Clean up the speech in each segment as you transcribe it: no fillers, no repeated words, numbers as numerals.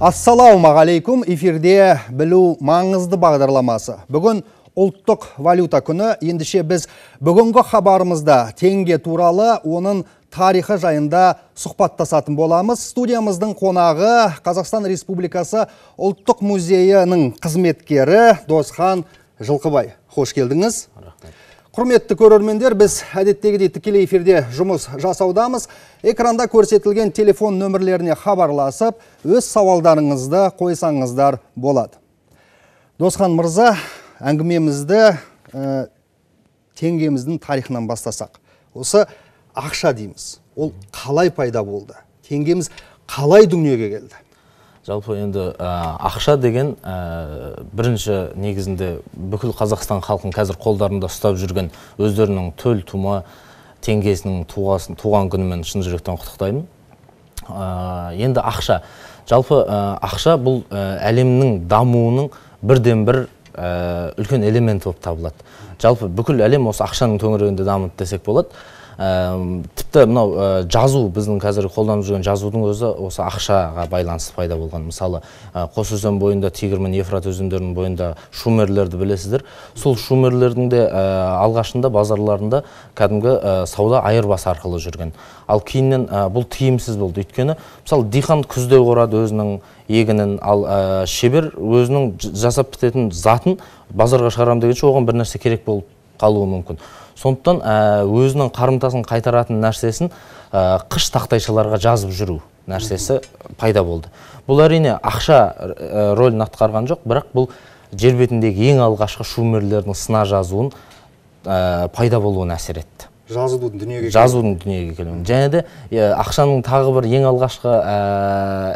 Ассалаумағалейкум, эфирде білу маңызды бағдарламасы. Бүгін ұлттық валюта күні, ендіше біз бүгінгі хабарымызда теңге туралы оның тарихы жайында сұхбаттасатын боламыз. Студиямыздың қонағы Қазақстан Республикасы ұлттық музейінің қызметкері Досхан Жылқыбай. Хош келдіңіз. Құрметті көрермендер, біз әдеттегідей тікелей эфирде жұмыс жасаудамыз. Экранда көрсетілген телефон нөмірлеріне хабарласып, өз сауалдарыңызды қойсаңыздар болады. Досхан мырза, әңгімемізді теңгеміздің тарихынан бастасақ. Осы ақша дейміз. Ол қалай пайда болды? Теңгеміз қалай дүниеге келді? Жалпы енді ақша деген бірінші негізінде бүкіл Қазақстан халқын қазір қолдарында ұстап жүрген өздерінің төл тума теңгесінің туған күнімен шын жүректен құттықтаймын. Енді ақша. Жалпы ақша бұл әлемнің дамуының бірден бір үлкен элемент болып табылады. Жалпы бүкіл әлем осы ақшаның төңірегінде дамыды десек болады. Тіпті мынау жазу, біздің қазір қолданып жүрген жазудың өзі осы ақшаға байланысты пайда болған. Мысалы, Қос өзен бойында, Тигр мен Ефрат өзендерінің бойында шумерлерді білесіздер. Сол шумерлердің де алғашында базарларында кәдімгі сауда айырбас арқылы жүрген. Ал кейіннен бұл тиімсіз болды. Өйткені, мысалы, диқан күзде орады өзінің егінін, ал шебер өзінің жасап бітетін затын базарға шығарам дегенше оған бір нәрсе керек болып қалуы мүмкін. Сондықтан өзінің қарымтасын қайтаратын нәрсесін қыш тақтайшаларға жазып жүру нәрсесі пайда болды. Бұл әрине ақша рөлін атқарған жоқ, бірақ бұл жер бетіндегі ең алғашқы шумерлердің сына жазуын пайда болуына әсер етті. Жазудың дүниеге келуін. Және де ақшаның тағы бір ең алғашқы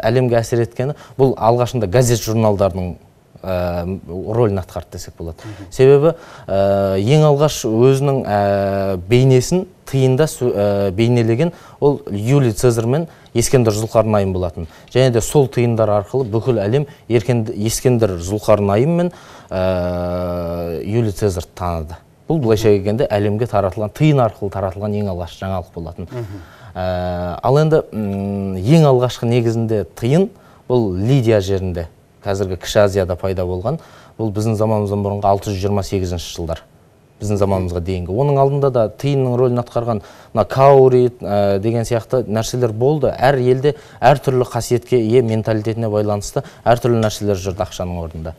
әлемге әсер еткені бұл алғашында газет журналдардың рөлін атқарды десек болады. Себебі ең алғаш өзінің бейнесін тиында бейнелеген ол Юлий Цезарь мен Ескендір Зұлқарнайым болатын. Және де сол тиындар арқылы бүкіл әлем Ескендір Зұлқарнайым мен Юлий Цезарь таныды. Бұл былайша келгенде әлемге таратылған, тиын арқылы таратылған ең алғаш жаңалық болатын. Ал енді ең алғашқы негізінде тиын бұл Лидия жерінде, қазіргі Кіші Азияда пайда болған. Бұл біздің заманымыздан бұрынғы 628 жылдар. Біздің заманымызға дейінгі. Оның алдында да тиынның рөлін атқарған каури деген сияқты нәрселер болды. Әр елде әртүрлі қасиетке ие менталитетіне байланысты әртүрлі нәрселер жүрді ақшаның орнында.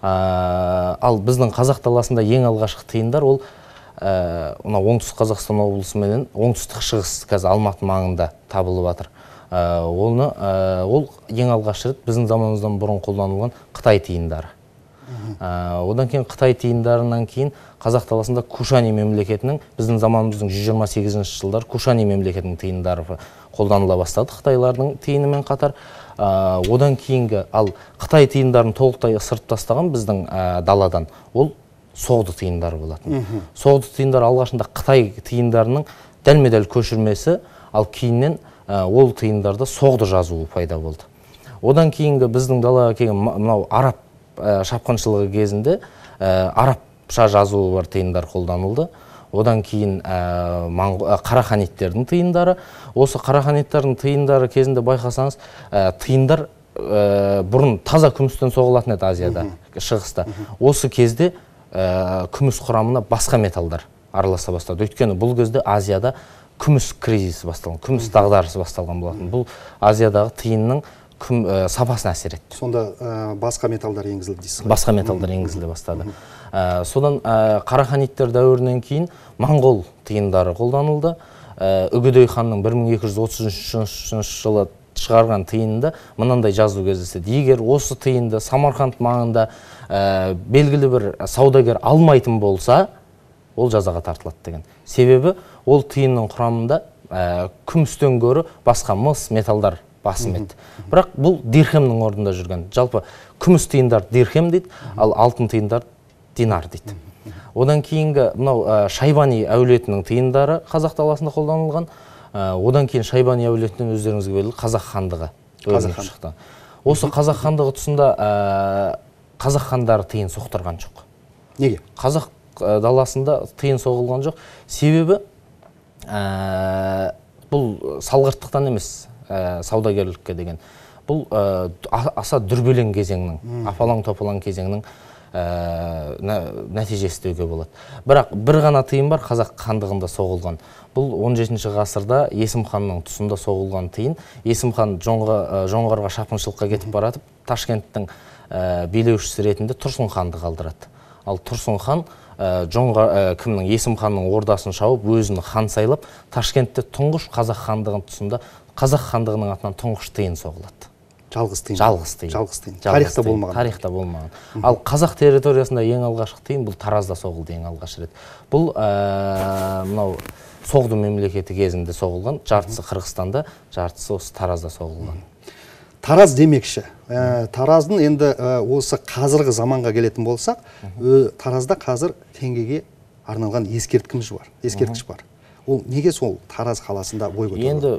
Ал біздің қазақ даласында ең алғашқы тиындар ол оңтүстік Қазақстан облысы менен оңтүстік шығыс қазір Алматы маңында табылып жатыр. Ол ең алғаш рет біздің заманымыздан бұрын қолданылған Қытай тиындары. Одан кейін Қытай тиындарынан кейін Қазақ даласында Кушани мемлекетінің біздің заманымыздың 128 жылдар Кушани мемлекетінің тиындары қолданыла бастады Қытайлардың тиынымен қатар. Одан кейінгі ал Қытай тиындарын толықтай ысырып тастаған біздің даладан ол соғды тиындары болатын. Соғды тиындар алғашында Қытай тиындарының дәлме-дәл көшірмесі, ал кейіннен ол тиындарда соғды жазуы пайда болды. Одан кейінгі біздің далаға келген мынау араб шапқыншылығы кезінде арабша жазуы бар тиындар қолданылды. Одан кейін қараханиттердің тиындары. Осы қараханиттардың тиындары кезінде байқасаңыз, тиындар бұрын таза күмістен соғылатын еді Азияда, шығыста. Осы кезде күміс құрамына басқа металдар араласа бастады. Өйткені бұл кезде Азияда күміс кризисі басталған, күміс дағдарысы басталған болатын. Бұл Азиядағы тиынның сапасына әсер етті. Сонда басқа металдар енгізілді дейсіз? Басқа металдар енгізіле бастады. Содан қараханиттер дәуірінен кейін моңғол тиындары қолданылды. Үгедей ханның 1233 жылы шығарған тиынында мынандай жазу кездеседі. Егер осы тиынды Самарқанд маңында белгілі бір саудагер алмайтын болса, ол жазаға тартылады деген. Себебі ол тиынның құрамында күмістен гөрі басқа мыс металдар басым еді. Бірақ бұл дирхемнің орнында жүрген. Жалпы күміс тиындар дирхем дейді, ал алтын тиындар динар дейді. Одан кейінгі мынау Шайбани әулетінің тиындары қазақ даласында қолданылған. Одан кейін Шайбани әулетінен өздеріңізге белгілі қазақ хандығы шықты. Осы қазақ хандығы тұсында қазақ хандары тиын соқтырған жоқ. Неге? Қазақ даласында тиын соғылған жоқ. Себебі бұл салғырттықтан емес, саудагерлікке деген. бұл аса дүрбелең кезеңнің, апалаң топалаң кезеңнің нәтижесі деуге болады. Бірақ бір ғана тиын бар, қазақ хандығында соғылған. Бұл 17 ғасырда Есім ханның тұсында соғылған тиын. Есім хан жоңғарға шапқыншылыққа кетіп баратып, Ташкенттің билеушісі ретінде Тұрсын ханды қалдырады. Ал Тұрсын хан Есім ханның ордасын шауып, өзін хан сайлап, Ташкентте тұңғыш қазақ хандығының тұсында қазақ хандығының атынан тұңғыш тиын соғылады. Жалғыз тиын. Жалғыз тиын. Тарихта болмаған. Тарихта болмаған. Ал қазақ территориясында ең алғашқы тиын бұл Таразда соғылды ең алғаш рет. Бұл мынау Соғды мемлекеті кезінде соғылған, жартысы Қырғызстанда, жартысы осы Таразда соғылған. Тараз демекші. Тараздың енді осы қазіргі заманға келетін болсақ, Таразда қазір теңгеге арналған ескерткіш бар. Ол неге сол Тараз қаласында бой көтерді? Енді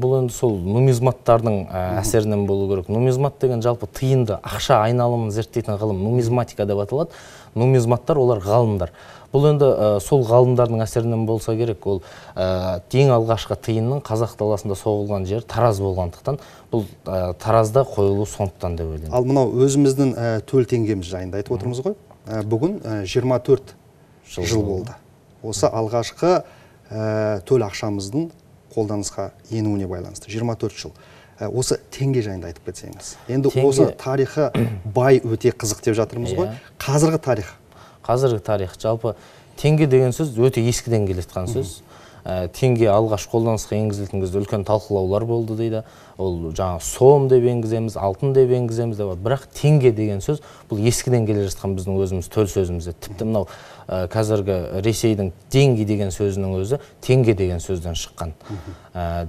бұл енді сол нумизматтардың әсерінен болу керек. Нумизмат деген жалпы тиынды, ақша айналымын зерттейтін ғылым нумизматика деп аталады. Нумизматтар олар ғалымдар. Бұл енді сол ғалымдардың әсерінен болса керек. Ол ең алғашқы тиынның қазақ даласында соғылған жер Тараз болғандықтан, бұл Таразда қойылу сондықтан деп ойлаймын. Ал мынау өзіміздің төл теңгеміз жайында айтып отырмыз ғой. Бүгін 24 жыл болды. Осы алғашқы төл ақшамыздың қолданысқа енуіне байланысты 24 жыл. Осы теңге жайында айтып кетсеңіз. Енді осы тарихы бай өте қызық деп жатырмыз ғой. Қазіргі тарих жалпы теңге деген сөз өте ескіден келетқан сөз. Теңге алғаш қолданысқа енгізілген кезде үлкен талқылаулар болды дейді. Ол жаңа сом деп енгіземіз, алтын деп енгіземіз деп. Бірақ теңге деген сөз бұл ескіден келе жатқан біздің өзіміз төл сөзімізде. Тіпті мынау қазіргі Ресейдің деньги деген сөзінің өзі теңге деген сөзден шыққан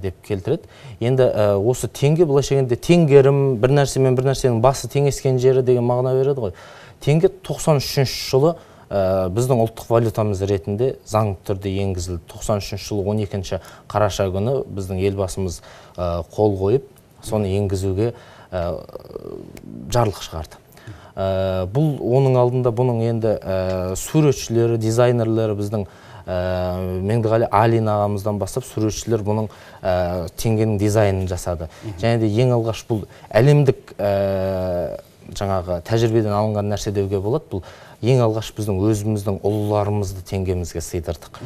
деп келтіреді. Енді осы теңге былайша айтқанда теңгерім, бір нәрсемен бір нәрсенің басы теңескен жері деген мағына береді ғой. Теңге 93 жылы біздің ұлттық валютамыз ретінде заңды түрде енгізілді. 93 жылы 12 қараша күні біздің елбасымыз қол қойып, соны енгізуге жарлық шығарды. Бұл оның алдында бұның енді суретшілері, дизайнерлері біздің Меңдіғали Алин ағамыздан бастап суретшілер бұның теңгенің дизайнын жасады. Және де ең алғаш бұл әлемдік жаңағы тәжірибеден алынған нәрсе деуге болады. Бұл ең алғаш біздің өзіміздің ұлыларымызды теңгемізге сыйдырдық.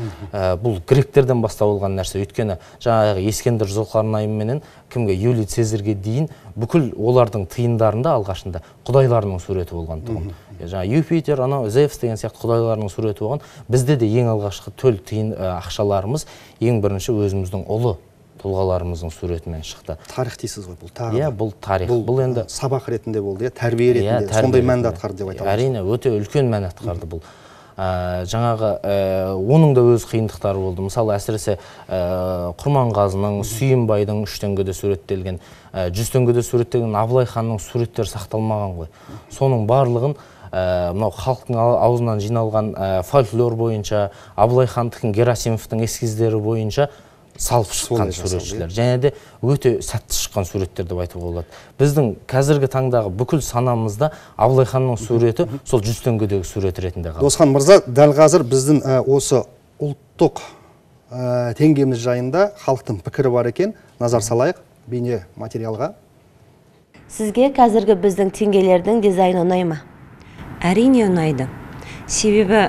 Бұл гректерден бастау алған нәрсе. Өйткені жаңағы Ескендір Зұлқарнайым менен кімге Юлий Цезарьге дейін бүкіл олардың тиындарында алғашында құдайларының суреті болған тұғын. Жаңа Юпитер, анау Зевс деген сияқты құдайларының суреті болған. Бізде де ең алғашқы төл тиын ақшаларымыз ең бірінші өзіміздің ұлы тұлғаларымыздың суретімен шықты. Тарих дейсіз ғой бұл тағы. Бұл тарих. Бұл енді сабақ ретінде болды, тәрбие ретінде сондай мәнді атқарды деп айтамыз. Әрине, өте үлкен мән атқарды бұл. Жаңағы оның да өз қиындықтары болды. Мысалы, әсіресе Құрманғазының, Сүйінбайдың 3 теңгеде суреттелген, 100 теңгеде суреттелген Абылай ханның суреттері сақталмаған ғой. Соның барлығын мынау халықтың аузынан жиналған фольклор бойынша, Абылай хандықтың, Герасимовтың эскиздері бойынша салып шыққан суретшілер. Және де өте сәтті шыққан суреттер деп айтуға болады. Біздің қазіргі таңдағы бүкіл санамызда Абылай ханның суреті сол 100 теңгедегі сурет ретінде қалды. Досхан мырза, дәл қазір біздің осы ұлттық теңгеміз жайында халықтың пікірі бар екен. Назар салайық бейне материалға. Сізге қазіргі біздің теңгелердің дизайны ұнай ма? Әрине ұнайды. Себебі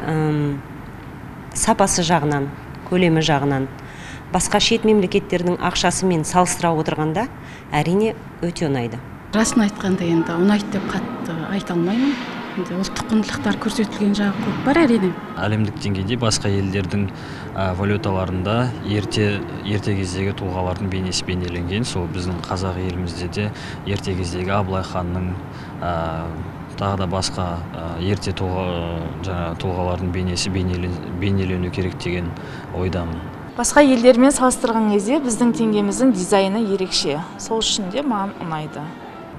сапасы жағынан, көлемі жағынан, басқа шет мемлекеттердің ақшасымен салыстыра отырғанда әрине өте ұнайды. Расын айтқанда енді ұнайды деп қатты айта алмаймын. Ұлттық құндылықтар көрсетілген жағы көп бар әрине. Әлемдік деңгейде басқа елдердің валюталарында ерте кездегі тұлғалардың бейнесі бейнеленген. Сол біздің қазақ елімізде де ерте кездегі Абылай ханның тағы да басқа ерте тұлғалардың бейнесі бейнелену керек деген ойдамын. Басқа елдермен салыстырған кезде біздің теңгеміздің дизайны ерекше. Сол үшін де маған ұнайды.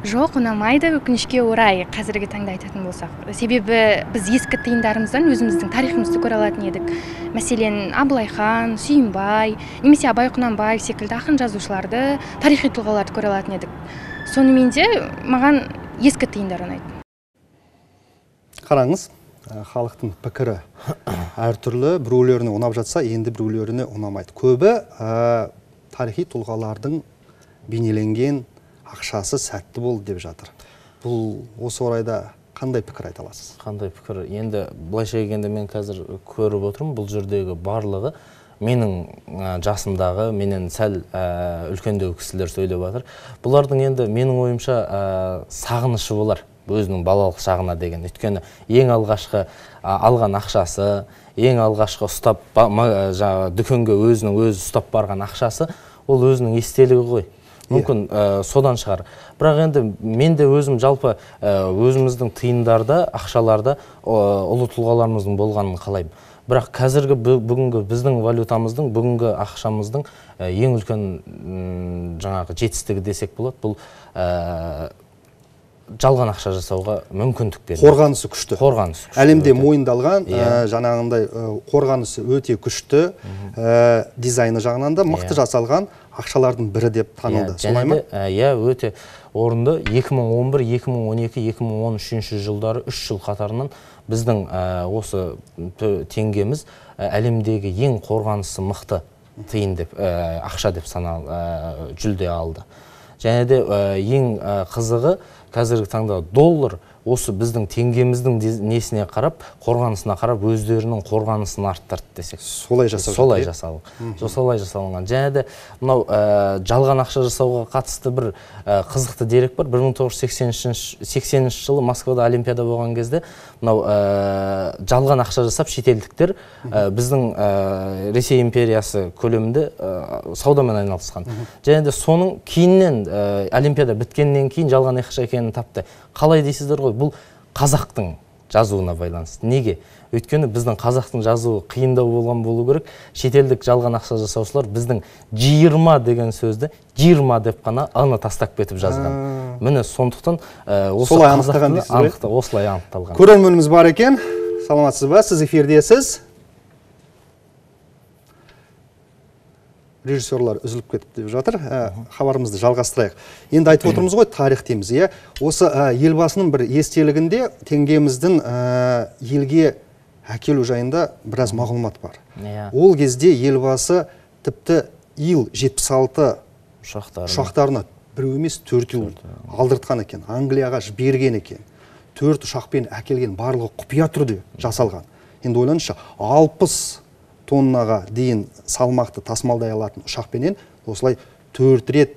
Жоқ, ұнамайды, өкінішке орай қазіргі таңда айтатын болсақ. Себебі біз ескі тиындарымыздан өзіміздің тарихымызды көре алатын едік. Мәселен, Абылай хан, Сүйінбай, немесе Абай Құнанбаев секілді ақын жазушыларды, тарихи тұлғаларды көре алатын едік. Сонымен де маған ескі тиындар ұнайды. Қараңыз, халықтың пікірі әртүрлі, біреулеріне ұнап жатса, енді біреулеріне ұнамайды. Көбі тарихи тұлғалардың бейнеленген ақшасы сәтті болды деп жатыр. Бұл осы орайда қандай пікір айта аласыз? Қандай пікір? Енді былайша келгенде мен қазір көріп отырмын, бұл жердегі барлығы менің жасымдағы, менен сәл үлкендеу кісілер сөйлеп жатыр. Бұлардың енді менің ойымша сағынышы болар өзінің балалық шағына деген. Өйткені ең алғашқы алған ақшасы, ең алғашқы ұстап дүкенге өзінің өзі ұстап барған ақшасы, ол өзінің естелігі ғой. Мүмкін содан шығар. Бірақ енді мен де өзім жалпы өзіміздің тиындарда, ақшаларда ұлы тұлғаларымыздың болғанын қалаймын. Бірақ қазіргі бүгінгі біздің валютамыздың, бүгінгі ақшамыздың ең үлкен жаңағы жетістігі десек болады. Бұл жалған ақша жасауға мүмкіндік береді. Қорғанысы күшті. Әлемде мойындалған, жаңағындай қорғанысы өте күшті, дизайны жағынан да мықты жасалған ақшалардың бірі деп танылды. Солай ма? Иә, өте орынды. 2011, 2012, 2013 жылдары 3 жыл қатарынан біздің осы теңгеміз әлемдегі ең қорғанысы мықты тиын деп, ақша деп жүлде алды. Және де ең қызығы қазіргі таңда доллар осы біздің теңгеміздің несіне қарап, қорғанысына қарап, өздерінің қорғанысын арттырды десек. Солай жасалынған. Және де мынау жалған ақша жасауға қатысты бір қызықты дерек бар. 1980 жылы Москвада Олимпиада болған кезде мынау жалған ақша жасап шетелдіктер біздің Ресей империясы көлемінде саудамен айналысқан. Және де соның кейіннен Олимпиада біткеннен кейін жалған ақша екенін тапты. Қалай дейсіздер ғой, бұл қазақтың жазуына байланысты. Неге? Өйткені біздің қазақтың жазуы қиындау болған болу керек. Шетелдік жалған ақша жасаушылар біздің 20 деген сөзді 20 деп қана аны тастап кетіп жазған. Міне сондықтан осылай анықталған. Көрерменіміз бар екен. Саламатсыз ба? Сіз эфирдесіз. Режиссерлар үзіліп кетіп деп жатыр. Хабарымызды жалғастырайық. Енді айтып отырмыз ғой, тарих дейміз. Осы елбасының бір естелігінде теңгеміздің елге әкелу жайында біраз мағлұмат бар. Ол кезде елбасы тіпті Ил-76 ұшақтарына біреу емес 4 алдыртқан екен. Англияға жіберген екен. 4 ұшақпен әкелген, барлығы құпия түрде жасалған. Енді ойлаңызшы, 60 тоннаға дейін салмақты тасымалдай алатын ұшақпенен осылай 4 рет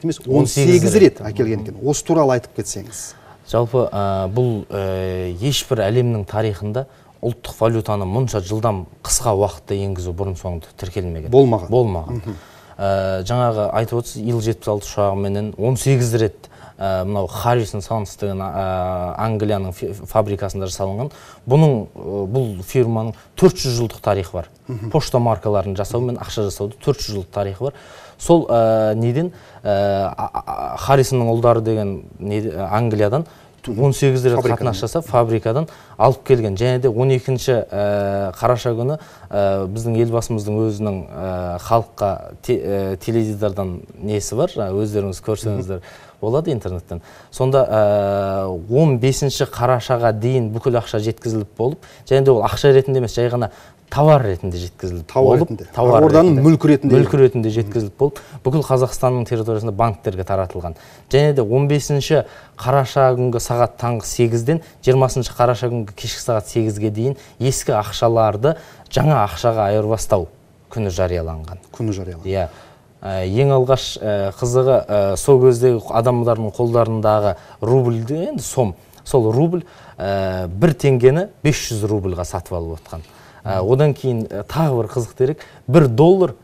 емес 18 рет әкелген екен. Осы туралы айтып кетсеңіз. Жалпы бұл ешбір әлемнің тарихында ұлттық валютаны мұнша жылдам қысқа уақытта енгізу бұрын соңды тіркелмеген. Болмаған. Жаңағы айтып отырсыз, Ил-76 ұшағыменен 18 рет мынау Харрисон Санс деген Англияның фабрикасында жасалынған. Бұл фирманың 400 жылдық тарихы бар. Пошта маркаларын жасау мен ақша жасауды 400 жылдық тарихы бар. Сол неден Харрисонның ұлдары деген Англиядан 18 рет қатынас жасап фабрикадан алып келген. Және де 12-ші қараша күні біздің елбасымыздың өзінің халыққа теледидардан несі бар, өздеріңіз көрсеңіздер болады интернеттен. Сонда 15-ші қарашаға дейін бүкіл ақша жеткізіліп болып, және де ол ақша ретінде емес, жай ғана товар ретінде жеткізіліп болып, орданың мүлкі ретінде жеткізіліп болып, бүкіл Қазақстанның территориясында банктерге таратылған. Және де 15-ші қараша күнгі сағат таңғы 8-ден 20-ші қараша күнгі кешкі сағат 8-ге дейін ескі ақшаларды жаңа ақшаға айырбастау күні жарияланған. Иә. Ең алғаш қызығы сол кездегі адамдардың қолдарындағы рубльді, енді сом. Сол рубль 1 теңгені 500 рубльға сатып алып отқан. Одан кейін тағы бір қызық дерек, 1 доллар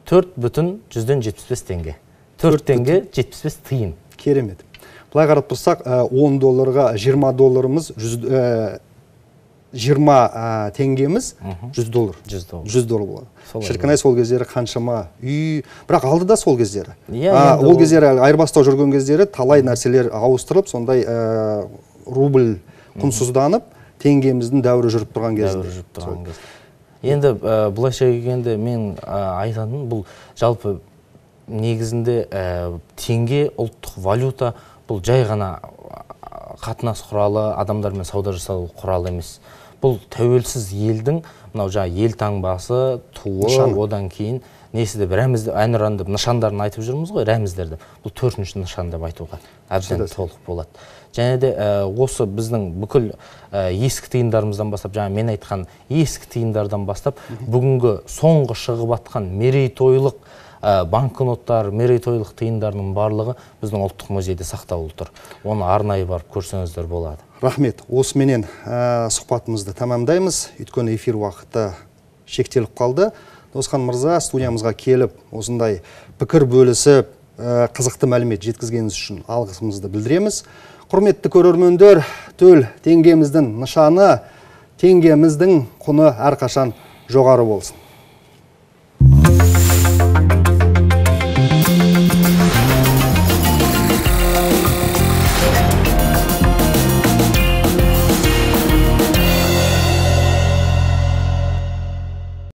4,75 теңге. 4 теңге 75 тиын. Керемет. Бұлай қарап тұрсақ, 10 долларға 20 долларымыз 20 теңгеміз 100 доллар. 100 доллар болады. Шіркінай сол кездері қаншама үй, бірақ алды да сол кездері. Ол кездері айырбастау жүрген кездері талай нәрселер ауыстырылып, сондай рубль құнсызданып, теңгеміздің дәуірі жүріп тұрған кезде. Енді бұлайша келгенде мен айтатыным, бұл жалпы негізінде теңге ұлттық валюта бұл жай ғана қатынас құралы, адамдармен сауда жасау құралы емес. Бұл тәуелсіз елдің, мынау ел таңбасы, туы, одан кейін несі деп әнұран деп нышандарын айтып жүрміз ғой, рәміздер деп. Бұл 4-ші нышан деп айтуға әбден толық болады. Және де осы біздің бүкіл ескі тиындарымыздан бастап, жаңа мен айтқан ескі тиындардан бастап, бүгінгі соңғы шығып атқан мерейтойлық банкноттар, мерейтойлық тиындарының барлығы біздің ұлттық музейде сақтаулы тұр. Оны арнайы барып көрсеңіздер болады. Рахмет. Осыменен сұхбатымызды тамамдаймыз. Өйткені эфир уақыты шектеліп қалды. Досхан мырза, студиямызға келіп, осындай пікір бөлісіп, қызықты мәлімет жеткізгеніңіз үшін алғысымызды білдіреміз. Құрметті көрермендер, төл теңгеміздің нышаны, теңгеміздің құны әрқашан жоғары болсын.